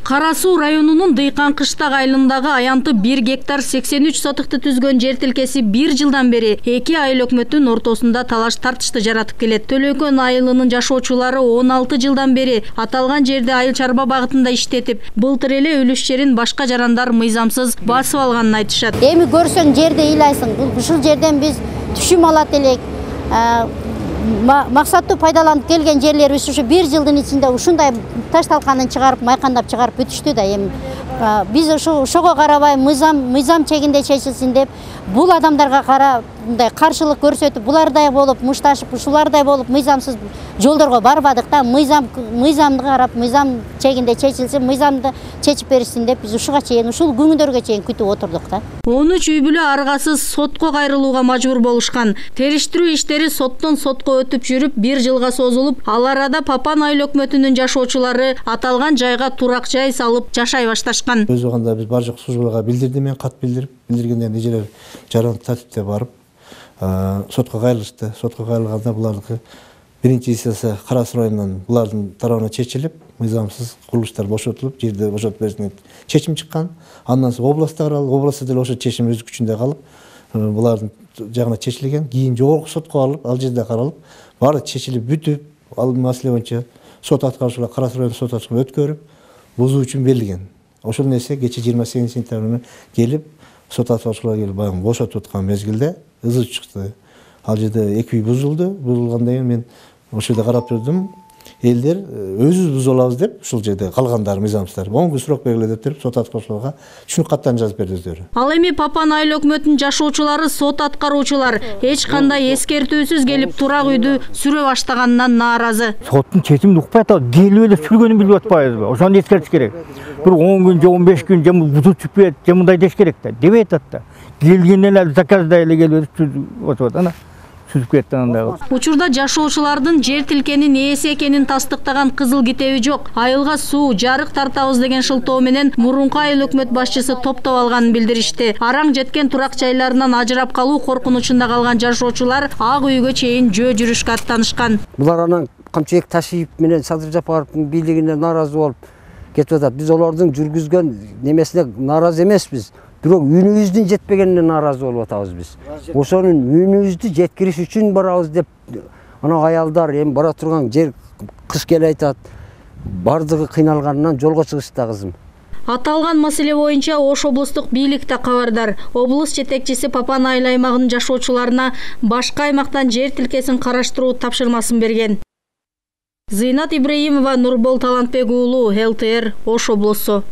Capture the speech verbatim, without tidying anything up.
Кара Суу районунун Дыйкан Кыштак айылындагы аянты бир гектар сексен үч сотукты түзгөн жер тилкеси бир жылдан бери эки айыл өкмөттүн ортосунда талаш тартышты жаратып келет. Төлөкөн айылынын жашоочулары он алты жылдан бери аталган жерди айыл чарба багытында иштетип, былтыр эле үлүш жерин башка жарандар мыйзамсыз басып алганын айтышат. Эми көрсөң жерди ыйлайсың. Ушул жерден биз түшүм алат элек. Максаттуу пайдаланып келген жерлерибиз ушу бир жылдын ичинде ушундай таш талканын чыгарып, майкандап чыгарып бүтүштү да. Эми биз ошо ошого карабай мыйзам мыйзам чегинде чечилсин деп, бул адамдарга кара мындай каршылык көрсөтүп, булардай болуп мушташып, ушулардай болуп мыйзамсыз жолдорго барбадык да. Мыйзам мыйзамды карап, мыйзам чегинде чечилсин, мыйзамды чечип беришсин деп биз ушуга чейин, ушул күнгүндөргө чейин күтүп отурдук да. он үч үй бүлө аргасыз сотко кайрылууга мажбур болушкан. Териштирүү иштери соттон сотко өтүп жүрүп бир жылга созулуп, ал арада Папан айыл өкмөтүнүн жашоочулары аталган жайга турак жай салып жашай башташкан. Өз убагында биз бар жок службага билдирдим, мен кат билдирип, билдиргенден эжелер жаран тартипте барып сотко кайрылышты. Сотко кайрылганда булардыкы биринчи инстанция Кара Суу районунан булардын тарабына чечилип, мыйзамсыз курулуштар бошотулуп, жерди бошотуп беришине чечим чыккан. Андан соң областта каралып, областта деле ошо чечим өз күчүндө калып, булардын жагына чечилген. Кийин жогорку сотко алып, ал жерде каралып, баары чечилип бүтүп, ал маселе боюнча сот аткарушулар Кара Суу районунун сот аткарушун өткөрүп, бузуу үчүн берилген. Ошол нерсе кече жыйырма сегизинчи сентябрь келип, сот аткарушулар келип баягы бошотуп аткан мезгилде ызы чыкты. Ал жерде эки үй бузулду. Бузулгандан кийин мен ошол жерде карап турдум. Элдер өзүбүз бузуп алабыз деп ушул жерде калгандар мыйзамсыздар он күн срок бергиле деп туруп, сот аткарушуларга түшүнүк каттарын жазып берди өздөрү. Ал эми Папан айыл өкмөтүнүн жашоочулары, сот аткаруучулар эч кандай эскертүүсүз келип турак үйдү сүрө баштаганынан нааразы. Соттун чечимин укпай атат, келип эле сүргөнүн билип атпайбызбы? Ошону эскертиш керек. Бир он күн же он беш күн же бузуп чыкпайт, же мындай деш керек да. Дебей атат да. Келгенден эле заказдай эле келип отуп атат. Сүзүп кетти анда. Учурда жашоочулардын жер тилкенин ээси экенин тастыктаган кызыл китеби жок. Айылга суу, жарык тартабыз деген шылтоо менен мурунку айыл өкмөт башчысы топтоп алганын билдиришти. Араң жеткен турак жайларынан ажырап калуу коркунучунда калган жашоочулар ак үйгө чейин жөө жүрүшкө аттанышкан. Булар анан Камчыбек Ташиев менен Садыр Жапаровдун бийлигине нааразы болуп кетип атат. Биз олордун жүргүзгөн немесине нааразы эмеспиз. Бирок үнүбүздүн жетпегенине нааразы болуп атабыз биз. Ошонун үнүбүздү жеткириш үчүн барабыз деп ана аялдар эми бара турган жер кыш келе айтат. Бардыгы кыйналганынан жолго чыгышты кызым. Аталган маселе боюнча Ош облустук бийлик да кабардар. Облус жетекчиси Папан айыл аймагынын жашоочуларына башка аймактан жер тилкесин караштыруу тапшырмасын берген. Зыйнат Ибраимова, Нурбол Талантбек уулу, эл тэ эр, Ош облусу.